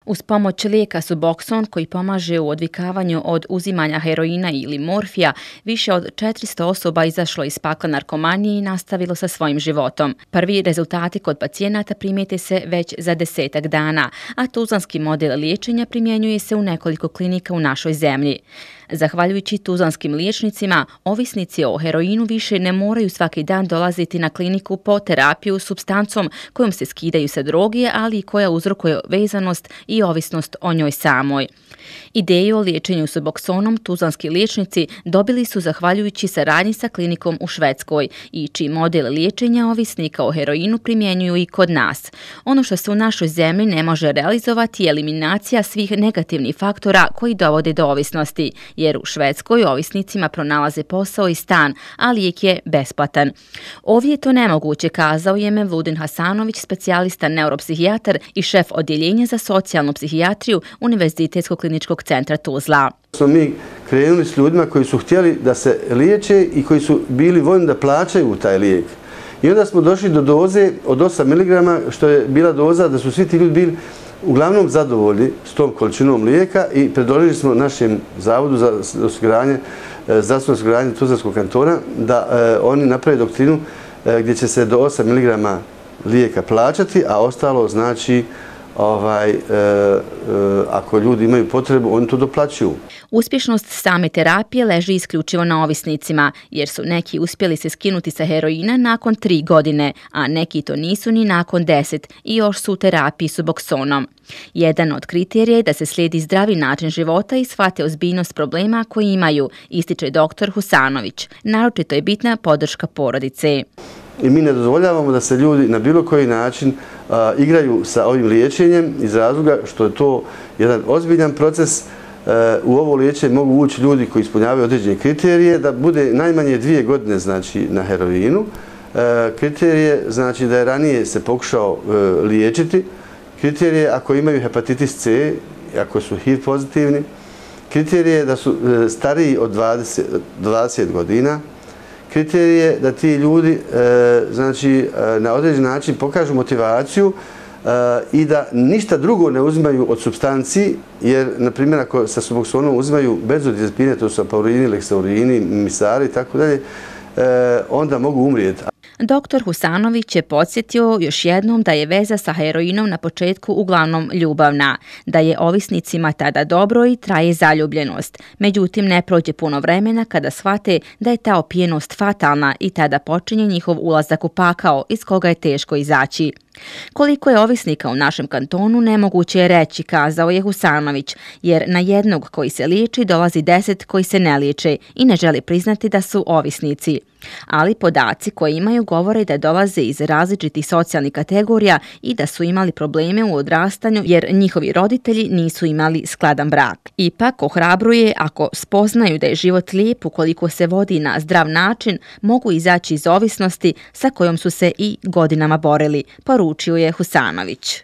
Uz pomoć lijeka Suboxone koji pomaže u odvikavanju od uzimanja heroina ili morfija, više od 400 osoba izašlo iz pakla narkomanije i nastavilo sa svojim životom. Prvi rezultati kod pacijenata primijete se već za 10-ak dana, a tuzlanski model liječenja primjenjuje se u nekoliko klinika u našoj zemlji. Zahvaljujući tuzlanskim liječnicima, ovisnici o heroinu više ne moraju svaki dan dolaziti na kliniku po terapiju supstancom kojom se skidaju sa droge, ali i koja uzrokuje vezanost i ovisnost o njoj samoj. Ideju o liječenju Suboxonom tuzlanski liječnici dobili su zahvaljujući saradnji sa klinikom u Švedskoj i čiji model liječenja ovisnika o heroinu primjenjuju i kod nas. Ono što se u našoj zemlji ne može realizovati je eliminacija svih negativnih faktora koji dovode do ovisnosti, jer u Švedskoj ovisnicima pronalaze posao i stan, a lijek je besplatan. Ovdje je to nemoguće, kazao je Mevludin Hasanović, specijalista neuropsihijatar i šef odjeljenja za socijalnu psihijatriju Univerzitetskog kliničkog centra Tuzla. Smo mi krenuli s ljudima koji su htjeli da se liječe i koji su bili voljni da plaćaju taj lijek. I onda smo došli do doze od 8 mg, što je bila doza da su svi ti ljudi bili uglavnom zadovoljni s tom količinom lijeka i predložili smo našem Zavodu za zdravstveno osiguranje Tuzlanskog kantona da oni naprave doktrinu gdje će se do 8 mg lijeka plaćati, a ostalo znači ako ljudi imaju potrebu, oni to doplaćuju. Uspješnost same terapije leži isključivo na ovisnicima, jer su neki uspjeli se skinuti sa heroina nakon 3 godine, a neki to nisu ni nakon 10 i još su u terapiji Suboxonom. Jedan od kriterija je da se slijedi zdravi način života i shvate ozbiljnost problema koji imaju, ističe dr. Husanović. Naročito je bitna podrška porodice. I mi ne dozvoljavamo da se ljudi na bilo koji način igraju sa ovim liječenjem iz razloga što je to jedan ozbiljan proces. U ovo liječenje mogu ući ljudi koji ispunjavaju određene kriterije, da bude najmanje 2 godine znači, na heroinu. Kriterije znači da je ranije se pokušao liječiti. Kriterije ako imaju hepatitis C, ako su HIV pozitivni. Kriterije da su stariji od 20 godina. Kriterije da ti ljudi znači, na određen način pokažu motivaciju i da ništa drugo ne uzimaju od supstanci, jer, na primjer, ako sa Suboxonom uzimaju benzodiazepine, to su apaurini, leksaurini, misari i tako dalje, onda mogu umrijeti. Dr. Husanović je podsjetio još jednom da je veza sa heroinom na početku uglavnom ljubavna, da je ovisnicima tada dobro i traje zaljubljenost. Međutim, ne prođe puno vremena kada shvate da je ta opijenost fatalna i tada počinje njihov ulazak u pakao iz koga je teško izaći. Koliko je ovisnika u našem kantonu nemoguće je reći, kazao je Husanović, jer na jednog koji se liječi dolazi 10 koji se ne liječe i ne želi priznati da su ovisnici. Ali podaci koje imaju govore da dolaze iz različitih socijalnih kategorija i da su imali probleme u odrastanju jer njihovi roditelji nisu imali skladan brak. Ipak ohrabruje ako spoznaju da je život lijep ukoliko se vodi na zdrav način, mogu izaći iz ovisnosti sa kojom su se i godinama borili, poručio je Husanović.